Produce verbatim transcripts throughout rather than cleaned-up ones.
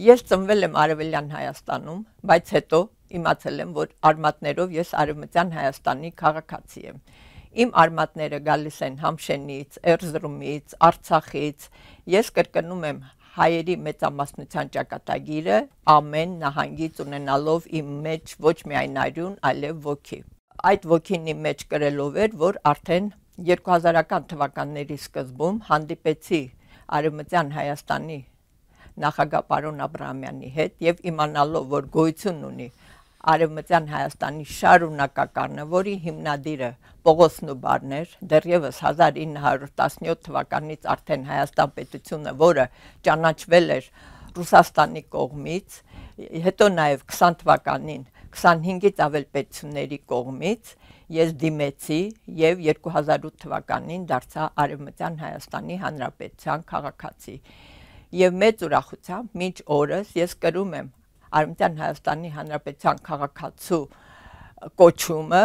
Ես ծնվել եմ Արևելյան Հայաստանում, բայց հետո իմացել եմ, որ արմատներով ես Արևմտյան Հայաստանի քաղաքացի եմ։ Իմ արմատները գալիս են Համշենից, Էրզրումից, Արցախից։ Ես կրկնում եմ հայերի մեծամասնության ճակատագիրը ամեն նահանգից ունենալով իմ մեջ ոչ միայն արյուն, այլև ոգի։ Այդ ոգին իմ մեջ կրելով էր, որ արդեն երկու հազարական թվականների սկզբում հանդիպեցի Արևմտյան Հայաստանի նախագահ պարոն Աբրահամյանի հետ եւ իմանալով, որ գոյություն ունի Արևմտյան Հայաստանի շարունակականը, որի հիմնադիրը Պողոս Նուբարն էր, դեռևս հազար ինը հարյուր տասնյոթ թվականից արդեն Հայաստան պետությունը, որը ճանաչվել էր Ռուսաստանի կողմից, հետո նաեւ քսան թվականին քսանհինգից ավել պետությունների կողմից ես դիմեցի եւ երկու հազար ութ թվականին դարձա Արևմտյան Հայաստանի Հանրապետության քաղաքացի։ Եվ մեծ ուրախությամբ մինչ օրս ես կրում եմ Արևմտյան Հայաստանի Հանրապետության քաղաքացու կոչումը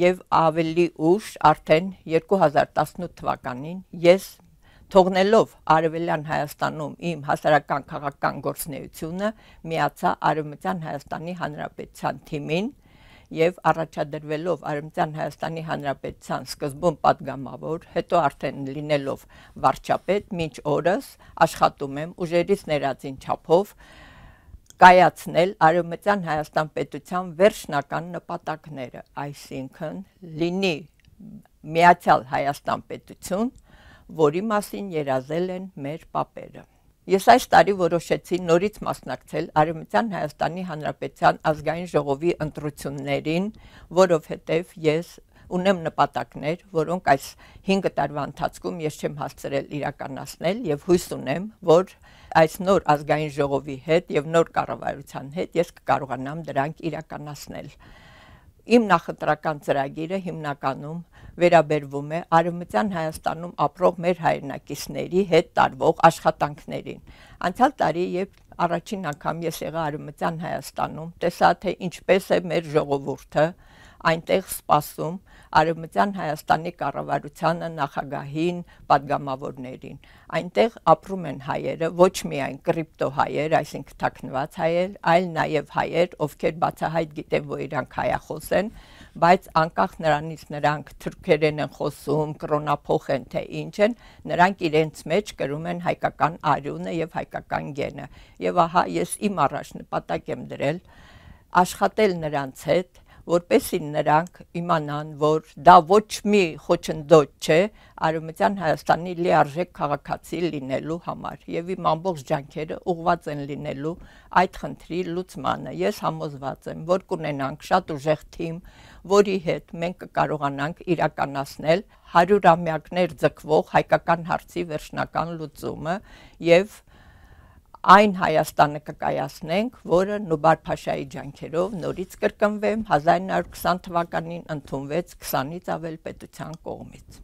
եւ ավելի ուշ արդեն երկու հազար տասնութ թվականին ես թողնելով Արևելյան Հայաստանում իմ հասարակական քաղաքական գործունեությունը միացա Արևմտյան Հայաստանի Հանրապետության թիմին եւ առաջադրվելով Արևմտյան Հայաստանի Հանրապետության սկզբում падգամավոր, հետո արդեն լինելով վարչապետ, մինչ օրս աշխատում եմ ուժերից ներածին չափով կայացնել Արևմտյան Հայաստան պետության վերջնական նպատակները, այսինքն լինի միացյալ Հայաստան պետություն, որի մասին երազել են մեր պապերը։ Ես այս տարի որոշեցի նորից մասնակցել Արևմտյան Հայաստանի Հանրապետության ազգային ժողովի ընտրություններին, որովհետև ես ունեմ նպատակներ, որոնք այս հինգ տարվա ընթացքում ես չեմ հասցրել իրականացնել եւ հույս ունեմ, որ այս նոր ազգային ժողովի հետ եւ նոր կառավարության հետ ես կկարողանամ դրանք իրականացնել։ Իմ նախընտրական ծրագիրը հիմնականում վերաբերվում է Արևմտյան Հայաստանում ապրող մեր հայրենակիցների հետ տարվող աշխատանքներին։ Անցյալ տարի, երբ առաջին անգամ ես եղա Արևմտյան Հայաստանում, տեսա, թե ինչպես է մեր ժողովուրդը այնտեղ սպասում Արևմտյան Հայաստանի կառավարությանը, նախագահին, падգամավորներին։ Այնտեղ ապրում են հայերը, ոչ միայն կրիպտո հայեր, այսինքն թաքնված հայեր, այլ նաև հայեր, ովքեր բացահայտ գիտեն, որ իրանք հայախոս են, բայց անկախ նրանից նրանք թուրքերեն են խոսում, կրոնափոխ են, թե ինչ են, նրանք իրենց մեջ կրում են հայկական արյունը եւ հայկական գենը։ Եվ ահա ես իմ առաջ նպատակ եմ դրել աշխատել նրանց հետ, որպեսզի նրանք իմանան, որ դա ոչ մի խոչընդոտ չէ Արևմտյան Հայաստանի լիարժեք քաղաքացի լինելու համար եւ իմ ամբողջ ջանքերը ուղղված են լինելու այդ խնդրի լուծմանը։ Ես համոզված եմ, որ կունենանք շատ ուժեղ թիմ, որի հետ մենք կկարողանանք իրականացնել հարյուրամյակներ ձգվող հայկական հարցի վերջնական լուծումը եւ այն Հայաստանը կկայացնենք, որը Նուբար Փաշայի ջանքերով նորից կրկնվեմ հազար ինը հարյուր քսան թվականին ընդունվեց քսանից ավել պետության կողմից։